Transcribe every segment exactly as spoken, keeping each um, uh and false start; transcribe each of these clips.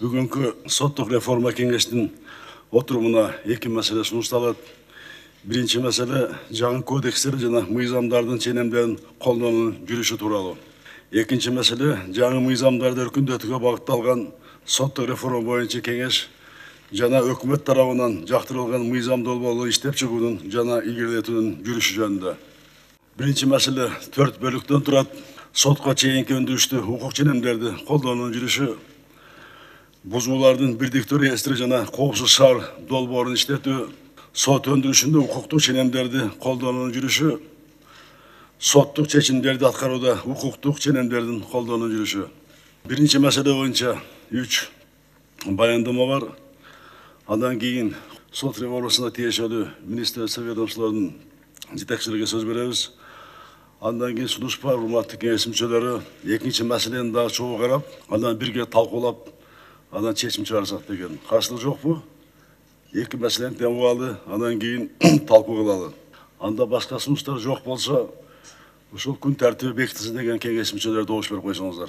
Бүгүнкү соттук реформа кеңештин отурумуна эки маселе сунушталат. Биринчи маселе жаңы кодекстер жана мыйзамдардын ченемдерин колдонуунун жүрүшү тууралуу. Экинчи маселе жаңы мыйзамдарды өркүндөтүүгө багытталган соттук реформа боюнча кеңеш жана өкмөт тарабынан жактырылган мыйзам долбоорду иштеп чыгуунун жана илгерилетүүнүн жүрүшү жөнүндө. Биринчи маселе төрт бөлүктөн турат. Сотко чейинки өндүрүштүү укук ченемдерди колдонуунун жүрүшү, бузуулардын бирдиктүү реестри жана коопсуз шаар долбоорун иштетүү, сот өндүрүшүндө укуктук ченемдерди колдонуунун жүрүшү, соттук чечимдерди аткарууда укуктук ченемдердин колдонуунун жүрүшү. Биринчи маселе боюнча үч баяндама бар. Андан кийин сот реформасына тиешелүү министрлик ведомстволордун жетекчилерге сөз беребиз. Андан кийин сунуш бар, урматтуу кеңеш мүчөлөрү, экинчи маселени дагы чогуу карап, андан бирге талкуулап, андан чечим чыгарсак деген. Каршылык жокпу? Эки маселени тең алалы, андан кийин талкуу кылалы. Анда башка сунуштар жок болсо, ушул күн тартиби бекитилсин деген кеңеш мүчөлөрү добуш берип койсоңуздар.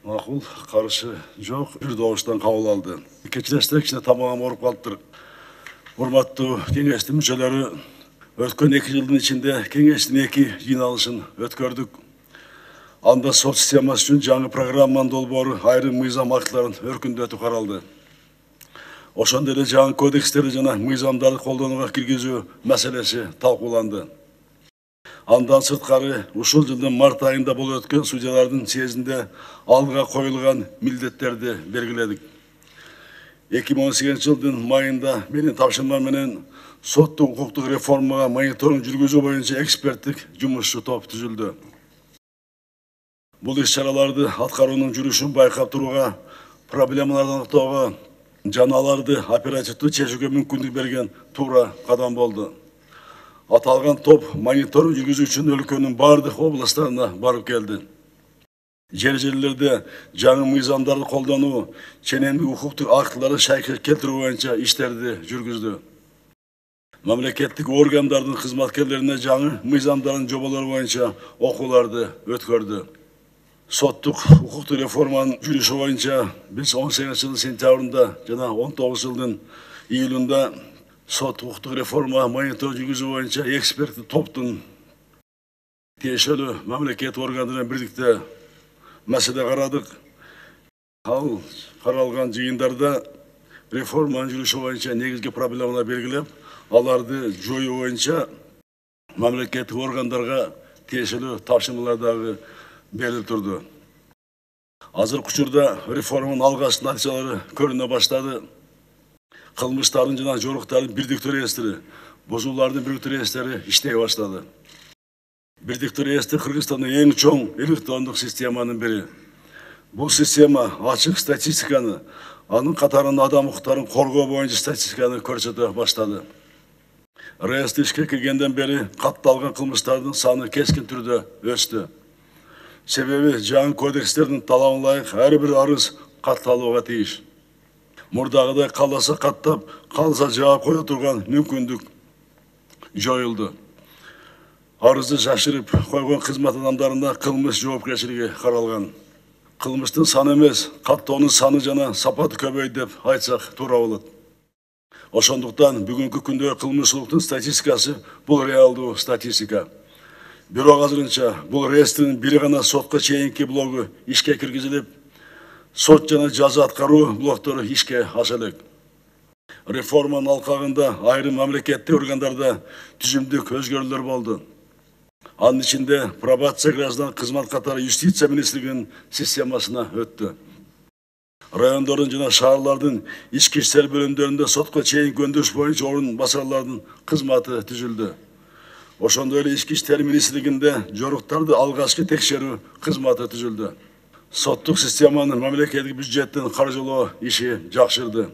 Макул, каршы жок, бир добуштан кабыл алды. Кечиресиз, кичине тамагым ооруп калыптыр. Урматтуу кеңештин мүчөлөрү, өткөн эки жылдын ичинде кеңештин эки жыйналышын өткөрдүк. Анда сот системасы үчүн жаңы программанын долбоору, айрым мыйзам актыларын өркүндөтүү каралды. Ошондой эле жаңы кодекстерди жана мыйзамдарды колдонууга киргизүү маселеси талкууланды. Андан сырткары ушул жылдын март айында болуп өткөн судьялардын съездинде алга коюлган милдеттерди белгиледик. эки миң он сегизинчи жылдын майында менин тапшырмам менен соттук укуктук реформага мониторинг жүргүзүү боюнча эксперттик жумушчу топ түзүлдү. Бул иш-чараларды аткаруунун жүрүшүн байкап турууга, проблемаларды аныктоого жана аларды оперативдүү чечүүгө мүмкүндүк берген туура кадам болду. Аталган топ мониторинг жүргүзүү үчүн өлкөнүн бардык областтарына барып келди. Жер жерлерде жаңы мыйзамдарды колдонуу, ченемдик укуктук актыларды шайкет келтирүү боюнча иштерди жүргүздү. Мамлекеттик органдардын кызматкерлерине жаңы мыйзамдардын жоболору боюнча окууларды өткөрдү. Соттук укуктук реформанын жүрүшү боюнча биз он сегизинчи жылдын сентябрында жана он тогузунчу жылдын июлунда сот укуктук реформа мониторинг жүргүзүү боюнча эксперттик топтун тиешелүү мамлекеттик органдар менен бирдикте маселе карадык. Ал каралган жыйындарда реформанын жүрүшү боюнча негизги проблемалар белгилеп, аларды жоюу боюнча мамлекеттик органдарга тиешелүү тапшырмалар дагы берилип турду. Азыркы учурда реформанын алгачкы натыйжалары көрүнө баштады. Кылмыштардын жана жоруктардын бирдиктүү реестри, бузуулардын бирдиктүү реестри иштей баштады. Бирдиктүү реестр Кыргызстандын эң чоң электрондук системанын бири. Бул система ачык статистиканы, анын катарында адам укуктарын коргоо боюнча статистиканы көрсөтө баштады. Реестр ишке киргенден бери катталган кылмыштардын саны кескин түрдө өстү. Себеби жаңы кодекстердин талабына ылайык ар бир арыз катталууга тийиш. Мурдагыдай кааласа каттап, кааласа жаап кое турган мүмкүндүк жоюлду. Арызды жашырып койгон кызмат адамдарына кылмыш жоопкерчилиги каралган. Кылмыштын саны эмес, каттоонун саны жана сапаты көбөйдү деп айтсак туура болот. Ошондуктан бүгүнкү күндө кылмыштуулуктун статистикасы бул реалдуу статистика. Бирок азырынча бул реестрдин бири гана сотко чейинки блогу ишке киргизилип, сот жана жаза аткаруу блоктору ишке аша элек. Реформанын алкагында айрым мамлекеттик органдарда түзүмдүк өзгөрүүлөр болду. Анын ичинде пробация граждан кызмат катары юстиция министрлигинин системасына өттү. Райондордун жана шаарлардын ички иштер бөлүмдөрүндө сотко чейинки өндүрүш боюнча орун басарлардын кызматы түзүлдү. Ошондой эле ички иштер министрлигинде жоруктарды алгачкы текшерүү кызматы түзүлдү. Соттук системанын мамлекеттик бюджеттин каржылоо иши жакшырды.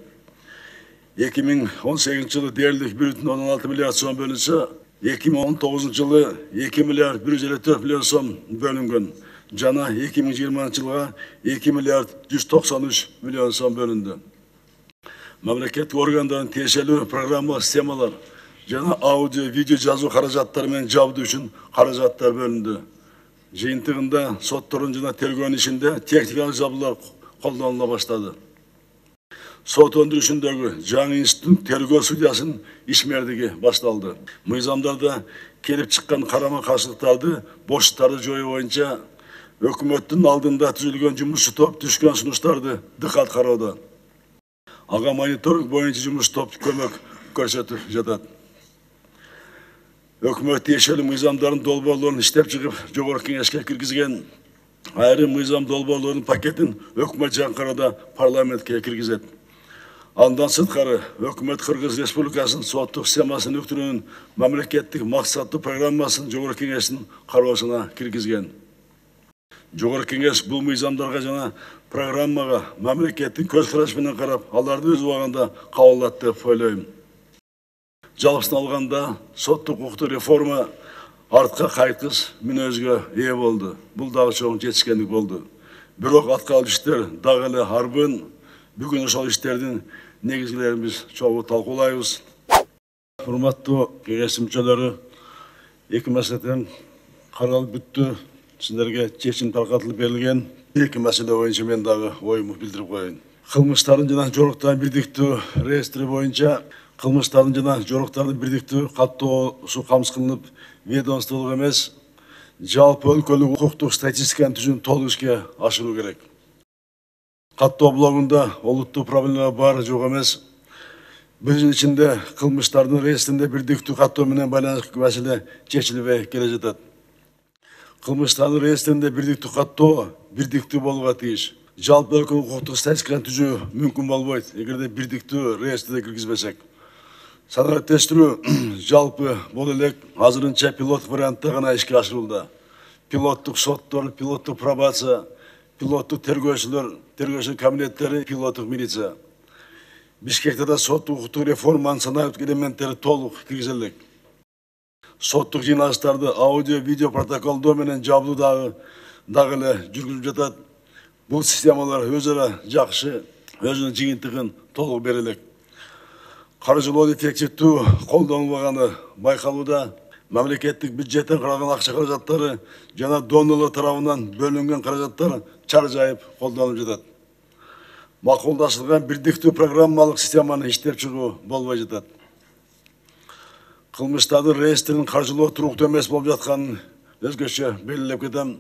эки миң он сегизинчи жылы дээрлик бир бүтүн ондон алты миллиард сом бөлүнсө, эки миң он тогузунчу жылы эки миллиард бир жүз элүү төрт миллион сом бөлүнгөн. Жана эки миң жыйырманчы жылга эки миллиард жүз токсон үч миллион сом бөлүндү. Мамлекеттик органдардын тиешелүү программалык системалар жана аудио, видео жазуу каражаттары менен жабдуу үчүн каражаттар бөлүндү. жыйынтыгында соттордун жана тергөөнүн ишинде техникалык жабдуулар колдонула баштады. Сот өндүрүшүндөгү жаңы институттун тергөө судьясынын ишмердиги башталды. Мыйзамдарда келип чыккан карама каршылыктарды, бошуктарды жоюу боюнча өкмөттүн алдында түзүлгөн жумушчу топ түшкөн сунуштарды дыкат кароодо. Ага мониторинг боюнча жумуш топ көмөк көрсөтүп жатат. Өкмөт тиешелүү мыйзамдардын долбоорлорун иштеп чыгып, жогорку кеңешке киргизген. Айрым мыйзам долбоорлорунун пакетин өкмөт жаңкырада парламентке киргизет. Андан сырткары өкмөт Кыргыз Республикасынын соттук системасын өктүрүүнүн мамлекеттик максаттуу программасын жогорку кеңештин кароосуна киргизген. Жогорку кеңеш бул мыйзамдарга жана программага мамлекеттин көз карашы менен карап, аларды өз убагында кабыл алат деп ойлойм. Жалпысын алганда соттук укуктук реформа артка кайткыс мүнөзгө ээ болду. Бул дагы чоң жетишкендик болду. Бирок аткарылып иштер дагы эле арбын. Бүгүн ошол иштердин негизгилерин биз чогуу талкуулайбыз. Урматтуу кеңеш мүчөлөрү, эки маселе тең каралып бүттү. Сиздерге чечим таркатылып берилген. Эки маселе боюнча мен дагы оюмду билдирип коеюн. Кылмыштардын жана жоруктардын бирдиктүү реестри боюнча кылмыштардын жана жоруктардын бирдиктүү каттоосу камсыз кылынып, ведомстволук эмес, жалпы өлкөлүк укуктук статистиканын түзүүнү толук ишке ашыруу керек. Каттоо блогунда олуттуу проблема бар жок эмес. Бир жыл ичинде кылмыштардын реестринде бирдиктүү каттоо менен байланыштуу маселе чечилбей келе жатат. Кылмыштардын реестринде бирдиктүү каттоо бирдиктүү болууга тийиш. Жалпы өлкөлүк укуктук статистиканы түзүү мүмкүн болбойт, эгерде бирдиктүү реестрде киргизбесек. Санариптештирүү жалпы бул элек азырынча пилот вариантта гана ишке ашырылды. Пилоттук соттор, пилоттук пробация, пилоттук тергөөчүлөр, тергөөчү кабинеттери, пилоттук милиция. Бишкекте да соттук укуктук реформанын санариптик элементтери толук киргизилет. Соттук жыйналыштарды аудио, видео протоколдоо менен жабдуу дагы дагы эле жүргүзүлүп жатат. Бул системалар өзара жакшы, өзүнүн жыйынтыгын толук бере элек. Каржылоо эффективдүү колдонулбаганы байкалууда. Мамлекеттик бюджеттен каралган акча каражаттары жана донорлор тарабынан бөлүнгөн каражаттар чаржайып колдонулуп жатат. Макулдашылган бирдиктүү программалык системаны иштеп чыгуу болбой жатат. Кылмыштардын реестринин каржылоо туруктуу эмес болуп жатканын өзгөчө белгилеп кетем.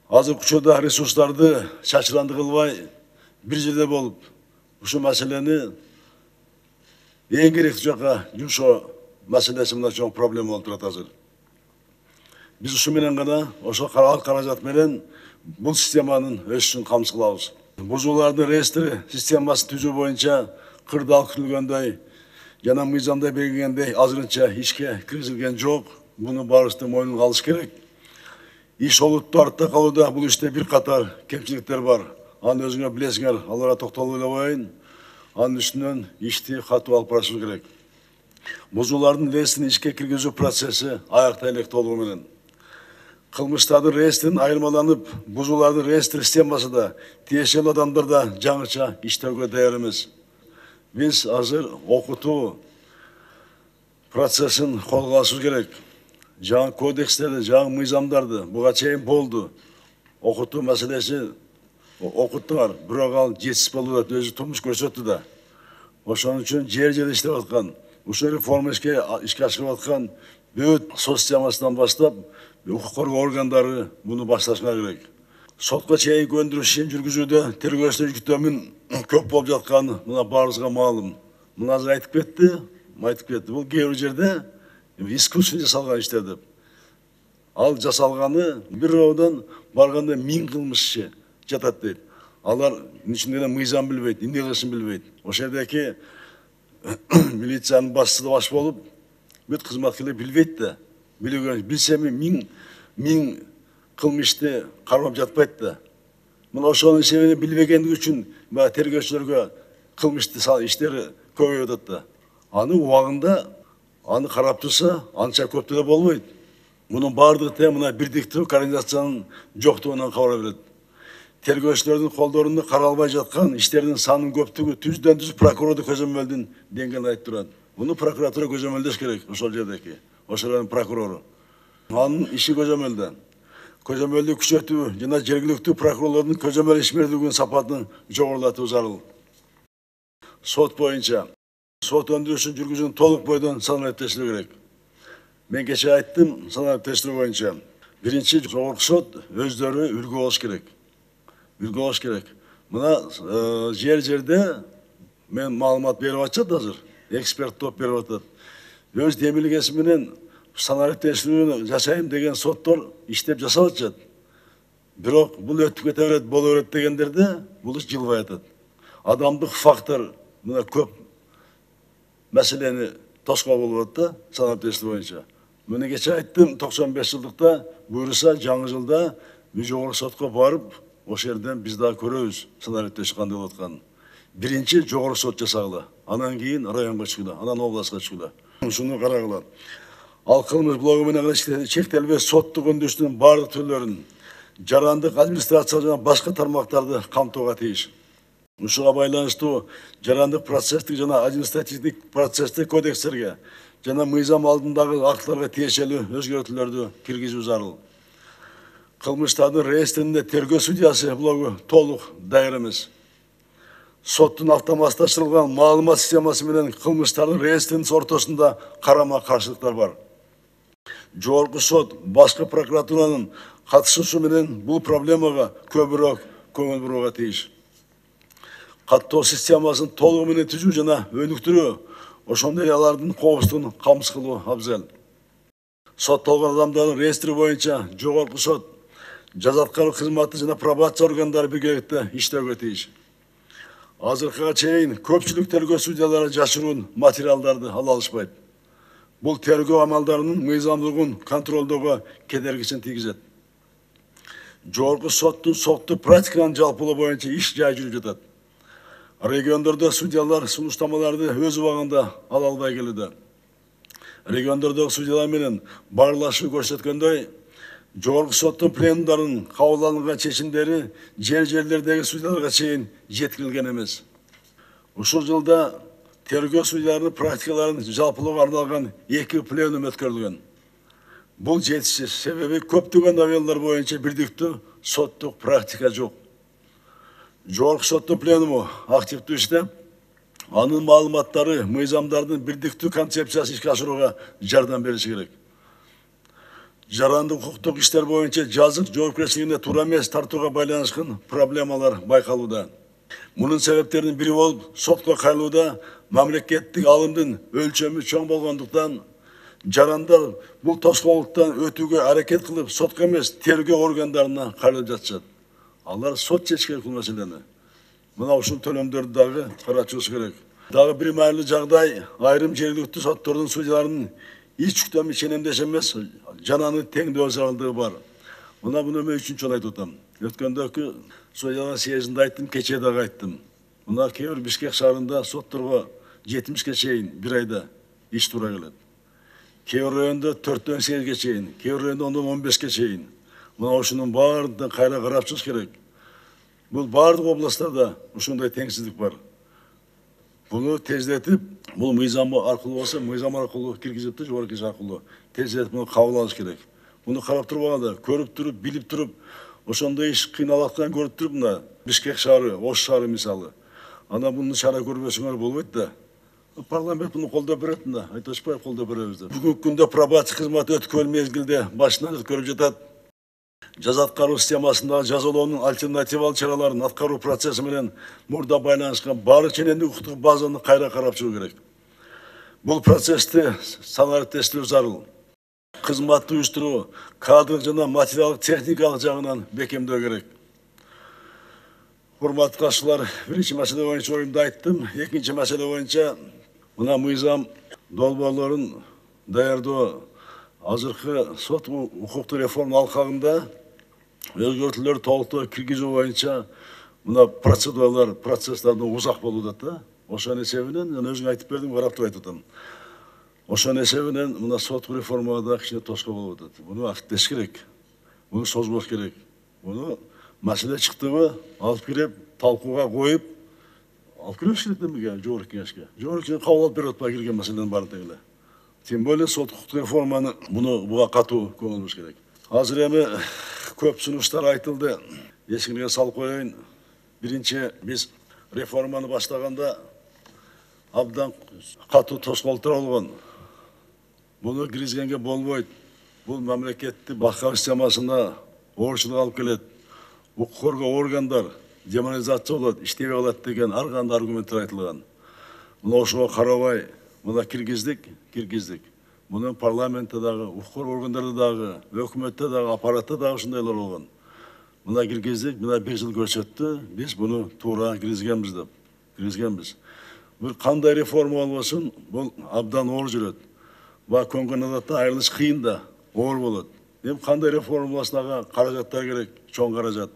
Азыркы учурда ресурстарды чачыранды кылбай, бир жерде болуп, ушул маселени эң керектүү жакка жумшоо маселеси мына чоң проблема болуп турат азыр. Биз ушу менен гана ошол каражат менен бул системанын өсүшүн камсыз кылабыз. Бузуулардын реестри системасын түзүү боюнча кырдаал күтүлгөндөй жана мыйзамда белгиленгендей азырынча ишке киргизилген жок. Буну баарыбыз мойнуна алыш керек. Иш олуттуу артта калууда, бул иште бир катар кемчиликтер бар. Аны өзүңөр билесиңер, аларга токтолуп эле коеюн. Анын үстүнөн ишти катуу алып барышыбыз керек. Бузуулардын реестрин ишке киргизүү процесси аякта элек толугу менен. Кылмыштардын реестрин айырмаланып, бузуулардын реестр системасы да тиешелүү адамдар да жаңыча иштөөгө даяр эмес. Биз азыр окутуу процессин колго алышыбыз керек. Жаңы кодекстерди, жаңы мыйзамдарды буга чейин болду. Окутуу маселеси окуттуңар, бирок ал жетишсиз болуп атат, өзү турмуш көрсөттү да. Ошон үчүн жер жерде иштеп аткан, ушул реформа ишке ишке ашырып аткан бүт сот системасынан баштап укук коргоо органдары буну башташыңар керек. Сотко чейинки өндүрүш ишин жүргүзүүдө тергөөчүлөр жүктөмүн көп болуп жатканы мына баарыбызга маалым. Мына азыр айтып кетти, айтып кетти. Бул кээ бир жерде искусственно жасалган иштер деп. Ал жасалганы бир роодон барганда миң кылмышчы жатат дейт. Алар ичинде мыйзам билбейт, эмне кылышын билбейт. Ошол жердеки милициянын башчысы баш болуп, бүт кызматкерлер билбейт да. Билген билсеми миң миң кылмышты кармап жатпайт да. Мына ошонун себебин билбегендиги үчүн баягы тергөөчүлөргө кылмышты иштери көбөйүп атат да. Аны убагында аны карап турса, анча көп деле болбойт. Мунун баардыгы тең мына бирдиктүү координациянын жоктугунан кабар берет. Тергөөчүлөрдүн колдорунда каралбай жаткан иштердин санынын көптүгү түздөн түз прокурордук көзөмөлдүн деңгээлин айтып турат. Буну прокуратура көзөмөлдөш керек ошол жердеки, ошолордун прокурору. Анын иши көзөмөлдө. көзөмөлдү күчөтүү жана жергиликтүү прокурорлордун көзөмөл ишмердүүлүгүнүн сапатын жогорулатуу зарыл. Сот боюнча сот өндүрүшүн жүргүзүүнү толук бойдон санариптештирүү керек. Мен кечээ айттым, санариптештирүү боюнча биринчи жогорку сот өздөрү үлгү болуш керек. Үлгү болуш керек. Мына жер жерде мен маалымат берип атышат азыр. Эксперт топ берип атат. Өз демилгеси менен санариптештирүүнү жашайм деген соттор иштеп жасап атышат. Бирок бул өтүп кете берет, боло берет дегендерде бул иш жылбай атат. Адамдык фактор мына көп маселени тоскоол болуп атат да санариптештирүү боюнча. Мына кечээ айттым, токсон беш жылдыкта буюрса жаңы жылда жогорку сотко барып, ошол жерден биз дагы көрөбүз санариптештик кандай болуп атканын. Биринчи жогорку сот жасагыла, анан кийин районго чыгыла, анан областка чыгыла. Ушуну карагыла. Ал кылмыш блогу менен чектелбес соттук өндүрүштүн баардык түрлөрүн, жарандык администрация жана башка тармактарды камтууга тийиш. Ушуга байланыштуу жарандык процесстик жана административдик процесстик кодекстерге жана мыйзам алдындагы актыларга тиешелүү өзгөртүүлөрдү киргизүү зарыл. Кылмыштардын реестринде тергөө судьясы блогу толук даяр эмес. Соттун автоматташтырылган маалымат системасы менен кылмыштардын реестринин ортосунда карама каршылыктар бар. Жогорку сот башкы прокуратуранын катышуусу менен бул проблемага көбүрөөк көңүл бурууга тийиш. Каттоо системасын толугу менен түзүү жана өнүктүрүү, ошондой алардын коопсуздугун камсыз кылуу абзел. Соттолгон адамдардын реестри боюнча жогорку сот, жаза аткаруу кызматы жана пробация органдары биргеликте иштөөгө тийиш. Азыркыга чейин көпчүлүк тергөө судьялары жашыруун материалдарды ала алышпайт. Бул тергөө амалдарынын мыйзамдуулугун контролдоого кедергисин тийгизет. Жогорку соттун соттук практиканын жалпылоо боюнча иш жай жүрүп жатат. Региондордо судьялар сунуштамаларды өз убагында ала албай келүүдө. Региондордогу судьялар менен баарлашуу көрсөткөндөй, жогорку соттун пленумдарынын кабыл алынган чечимдери жер жерлердеги судьяларга чейин жеткирилген эмес. Ушул жылда тергөө судьяларынын практикаларын жалпылоого арналган эки пленум өткөрүлгөн. Бул жетишсиз, себеби көптөгөн абелдар боюнча бирдиктүү соттук практика жок. Жогорку соттун пленуму активдүү иштеп, анын маалыматтары мыйзамдардын бирдиктүү концепциясын ишке ашырууга жардам бериши керек. Жарандык укуктук иштер боюнча жазык жоопкерчилигине туура эмес тартууга байланышкан проблемалар байкалууда. Мунун себептеринин бири болуп, сотко кайрылууда мамлекеттик алымдын өлчөмү чоң болгондуктан жарандар бул тоскоолдуктан өтүүгө аракет кылып, сотко эмес тергөө органдарына кайрылып жатышат. Алар сот чечиш керек бул маселени. Мына ушул төлөмдөрдү дагы карачубуз керек. Дагы бир маанилүү жагдай, айрым жергиликтүү соттордун судьяларынын ич жүктөмү ченемдеш эмес, жананын теңдөө зарылдыгы бар. Мына буну мен үчүнчү жолу айтып атам. Өткөндөгү судьялар съезинде айттым, кечээ дагы айттым. Мына кээ бир Бишкек шаарында сотторго жетимишке чейин бир айда иш туура келет. Кээ бир райондо төрттөн сегизге чейин, кээ бир райондо ондон он бешке чейин. Мына ушунун баардыгын кайра карап чыгыш керек. Бул баардык областтарда ушундай теңсиздик бар. Буну тездетип, бул мыйзам аркылуу болсо, мыйзам аркылуу киргизип да жогорку иш аркылуу тездетип муну кабыл алыш керек. Муну карап турбаганда, көрүп туруп, билип туруп, ошондой иш кыйналаткан көрүп туруп, мына Бишкек шаары, Ош шаары мисалы. Анан буну чара көрбөсөңөр болбойт да. Парламент буну колдоп берет да, айтышпай колдоп беребиз деп. Бүгүнкү күндө пробация кызматы өткөрүл мезгилде башынан өткөрүп жатат. Жаза аткаруу системасындагы жазалоонун альтернативалык чараларын аткаруу процесси менен мурда байланышкан баардык ченемдик укуктук базаны кайра карап чыгуу керек. Бул процессти санариптештирүү зарыл. Кызматты уюштуруу, кадрдык жана материалдык техникалык жагынан бекемдөө керек. Урматтуу катышуулар, биринчи маселе боюнча оюмду айттым. Экинчи маселе боюнча мына мыйзам долбоорлорун даярдоо азыркы сот укуктук реформа алкагында өзгөртүүлөр толуктоо киргизүү боюнча мына процедуралар, процесстардан узак болуп атат да. Ошонун эсебинен, мен өзүң айтып бердим, карап туруп айтып атам. Ошонун эсебинен мына соттук реформага да кичине тоскоол болуп атат. Буну актеш керек. Буну созбош керек. Буну маселе чыктыбы алып кирип, талкууга коюп, алып кириш керек демеге жогорку кеңешке. Жогорку кеңеш кабыл алып берип атпай кирген маселенин баарын эле. Тем более соттук реформаны буну буга катуу көңүл буруш керек. Азыр эми көп сунуштар айтылды. Эсиңерге салып коеюн. Биринчи биз реформаны баштаганда абдан катуу тоскоолдор болгон. Буну киргизгенге болбойт. Бул мамлекеттик башкаруу системасына оорчулук алып келет. Укук коргоо органдар деморализация болот, иштебей калат деген ар кандай аргументтер айтылган. Мына ошого карабай, мына киргиздик, киргиздик. Муну парламентте дагы, укук коргоо органдарында дагы, өкмөттө дагы, аппаратта дагы ушундайлар болгон. Мына киргиздик, мына бир жыл көрсөттү, биз буну туура киргизгенбиз деп, киргизгенбиз. Бул кандай реформа болбосун, бул абдан оор жүрөт. Ба көнгөн адатта айрылыш кыйын да, оор болот. Эми кандай реформа болсун, ага каражаттар керек, чоң каражат.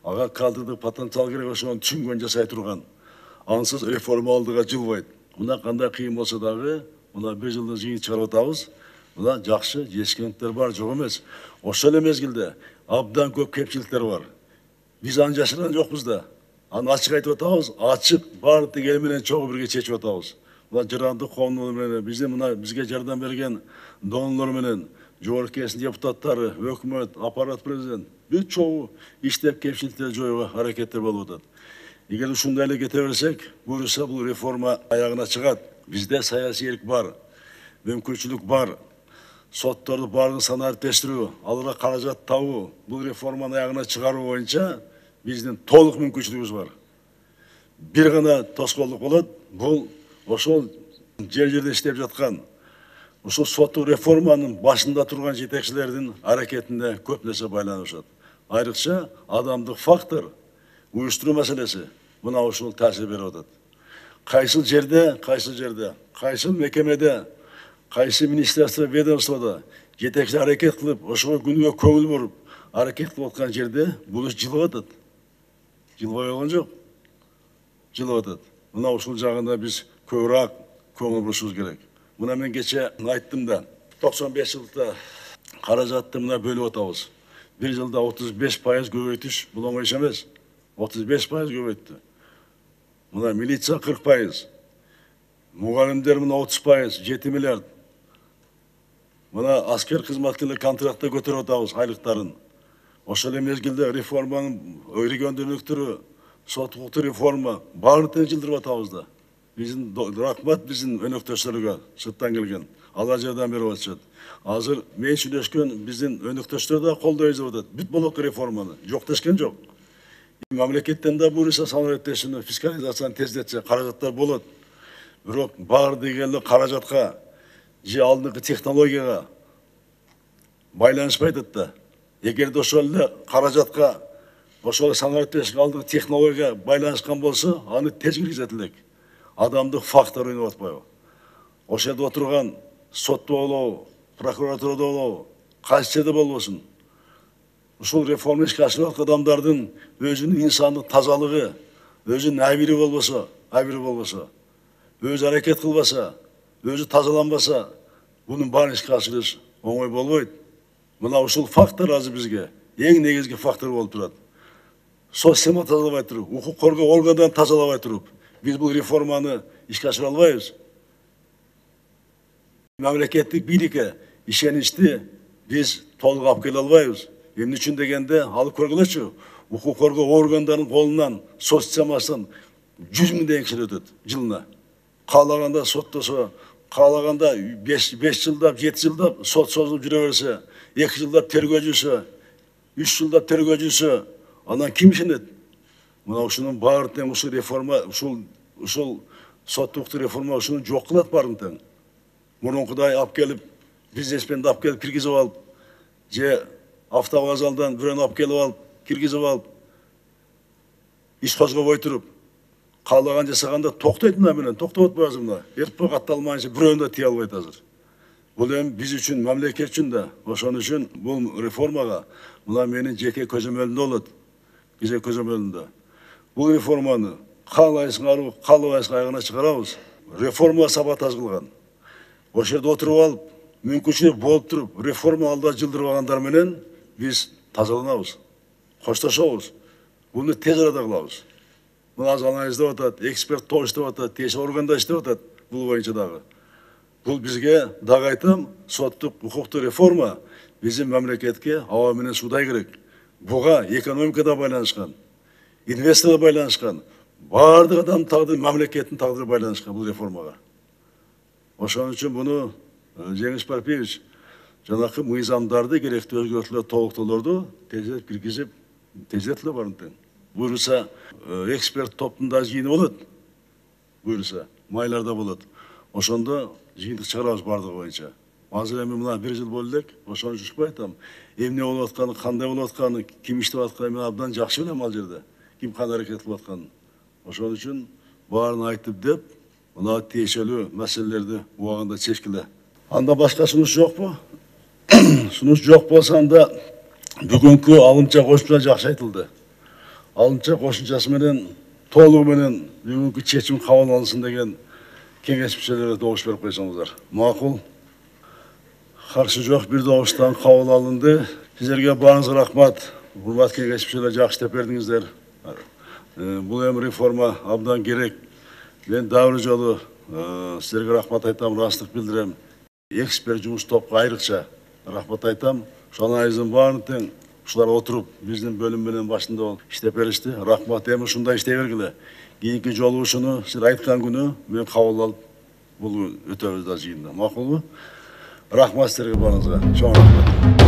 Ага кадрдык потенциал керек, ошону түшүнгөн жасай турган. Ансыз реформа алдыга жылбайт. Мына кандай кыйын болсо дагы, мына бир жылдын жыйын чыгарып атабыз. Мына жакшы жетишкендиктер бар, жок эмес. Ошол эле мезгилде абдан көп кепчиликтер бар. Биз аны жашырган жокпуз да. Аны ачык айтып атабыз, ачык баардык эл менен чогуу бирге чечип атабыз. Мына жырандык коомдор менен, биздин мына бизге жардам берген донорлор менен, жогорку кеңештин депутаттары, өкмөт, аппарат, президент бүт чогуу иштеп кемчиликтерди жоюуга аракеттер болуп атат. Эгер ушундай эле кете берсек, буюрса бул реформа аягына чыгат. Бизде саясий эрк бар, мүмкүнчүлүк бар. Сотторду баардыгын санариптештирүү, аларга каражат табуу, бул реформаны аягына чыгаруу боюнча биздин толук мүмкүнчүлүгүбүз бар. Бир гана тоскоолдук болот, бул ошол жер жерде иштеп жаткан, ушул соттук реформанын башында турган жетекчилердин аракетине көп нерсе байланышат. Айрыкча адамдык фактор, уюштуруу маселеси мына ушул таасир берип атат. Кайсыл жерде, кайсыл жерде, кайсыл мекемеде, кайсы министерство, ведомствода жетекчилер аракет кылып, ошого күнүгө көңүл буруп, аракет кылып аткан жерде бул иш жылып атат. Жылбай койгон жок. Жылып атат. Мына ушул жагында биз көбүрөөк көңүл бурушубуз керек. Мына мен кече айттым да, токсон беш жылда каражатты мына бөлүп атабыз. Бир жылда отуз беш пайыз көбөйтүш бул оңой иш эмес. отуз беш пайыз көбөйттү. Мына милиция кырк пайыз. Мугалимдер мына отуз пайыз, жети миллиард. Мына аскер кызматкерлер контрактта көтөрүп атабыз айлыктарын. Ошол эле мезгилде реформанын региондуулуктуру, сот укуктук реформа баарын жылдырып атабыз да. Биздин рахмат биздин өнөктөштөргө сырттан келген. Алар жардам берип атышат. Азыр мен сүйлөшкөн биздин өнөктөштөр да колдойбуз деп атат. Бүт болот реформаны. Жок дешкен жок. Мамлекеттен да буюрса санариптештирүүнү, фискализацияны тездетсе каражаттар болот. Бирок баардык эле каражатка же алдыңкы технологияга байланышпай атат да. Эгерде ошол эле каражатка, ошол санариптештик алдыңкы технологияга байланышкан болсо, аны тез киргизет элек. Адамдык фактор ойноп атпайбы? Ошол жерде отурган сотто болобу, прокуратурада болобу, кайсы жерде болбосун. Ушул реформа ишке ашырып аткан адамдардын өзүнүн инсандык тазалыгы, өзүнүн абири болбосо, абири болбосо, өзү аракет кылбаса, өзү тазаланбаса, бунун баарын ишке ашырыш оңой болбойт. Мына ушул фактор азыр бизге эң негизги фактор болуп турат. Система тазалабай туруп, укук коргоо органдарын тазалабай туруп, биз бул реформаны ишке ашыра албайбыз. Мамлекеттик бийликке ишеничти биз толук алып келе албайбыз. Эмне үчүн дегенде, алып көргүлөчү, укук коргоо органдарынын колунан сот системасынан жүз миңдеген киши өтөт жылына. Каалаганда соттосо, каалаганда беш жылдап, жети жылдап сот созулуп жүрө берсе, эки жылдап тергөөчүсү, үч жылдап тергөөчүсү, анан ким ишенет? Мына ушунун баарын тең ушул реформа, ушул ушул соттук реформа ушуну жок кылат баарын тең. Мурункудай алып келип, бизнесменди алып келип киргизип алып, же автовокзалдан бирөөнү алып келип алып, киргизип алып, иш козгобой туруп, каалаган жасаганда токтойт мына менен, токтоп атпайбыз мына. РП катталмайынча бирөөнү да тие албайт азыр. Бул эми биз үчүн, мамлекет үчүн да, ошон үчүн бул реформага мына менин жеке көзөмөлүмдө болот. Жеке көзөмөлүмдө. Бул реформаны каалайсыңарбы, каалабайсыңар аягына чыгарабыз. Реформа саботаж кылган. Ошол жерде отуруп алып, мүмкүнчүлүк болуп туруп, реформа алдыга жылдырып алгандар менен биз тазаланабыз, коштошобуз. Буну тез арада кылабыз. Мына азыр анализдеп атат, эксперт топ иштеп атат, тиешелүү органдар иштеп атат бул боюнча дагы. Бул бизге дагы айтам, соттук укуктук реформа биздин мамлекетке аба менен суудай керек. буга экономикада байланышкан, инвесторго байланышкан, баардык адам тагдыры, мамлекеттин тагдыры байланышкан бул реформага. Ошон үчүн буну Жеңиш Парпиевич жанакы мыйзамдарды, керектүү өзгөртүүлөр, толуктоолорду тезирээк киргизип, тезирээк эле барын тең. Буюрса, эксперт топтун да жыйыны болот. Буюрса, майларда болот. Ошондо жыйынтык чыгарабыз бардыгы боюнча. Азыр эми мына бир жыл болду элек, ошон үчүн айтам. Эмне болуп атканы, кандай болуп атканы, ким иштеп атканын мен абдан жакшы билем ал жерде. Ким кандай аракет кылып атканын. Ошон үчүн баарын айтып деп, мына тиешелүү маселелерди убагында чечкиле. Анда башка сунуш жокпу? Сунуш жок болсо анда бүгүнкү алымча кошумча жакшы айтылды. Алымча кошумчасы менен толугу менен бүгүнкү чечим кабыл алынсын деген кеңеш мүчөлөрү добуш берип койсоңуздар. Макул. Каршы жок, бир добуштан кабыл алынды. Сиздерге баарыңызга рахмат. Урмат кеңеш мүчөлөрү жакшы деп бердиңиздер. Бул эми реформа абдан керек. Мен дагы бир жолу сиздерге рахмат айтам, ырастык билдирем. Эксперт жумуш топко айрыкча рахмат айтам. Ошонун айызын баарын тең ушулар отуруп, биздин бөлүм менен башында болуп иштеп беришти. Рахмат, эми ушундай иштей бергиле. Кийинки жолу ушуну сиз айткан күнү мен кабыл алып, бул өтөбүз да жыйында. Макулбу? Рахмат сиздерге баарыңызга. Чоң рахмат.